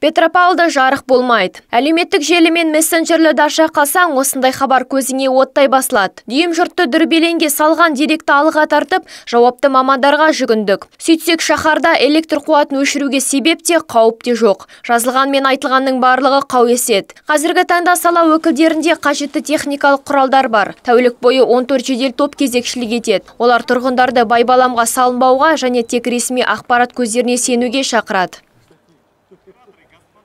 Петропавлда жарық болмайды. Әлеуметтік желі мен мессенджерлерді аша қалсаң, осындай хабар көзіңе оттай басылады. Дүйім жұртты дүрбелеңге салған деректі алға тартып, жауапты мамандарға жүгіндік. Сөйтсек, шаһарда электр қуатын өшіруге себеп те, қауіп те жоқ. Жазылған мен айтылғанның барлығы қауесет. Қазіргі таңда сала өкілдерінде қажетті техникалық құралдар бар. Тәулік бойы 14 жедел топ кезекшілік етеді. Олар тұрғындарды байбаламға салынбауға және тек ресми ақпарат көздеріне сенуге шақырады.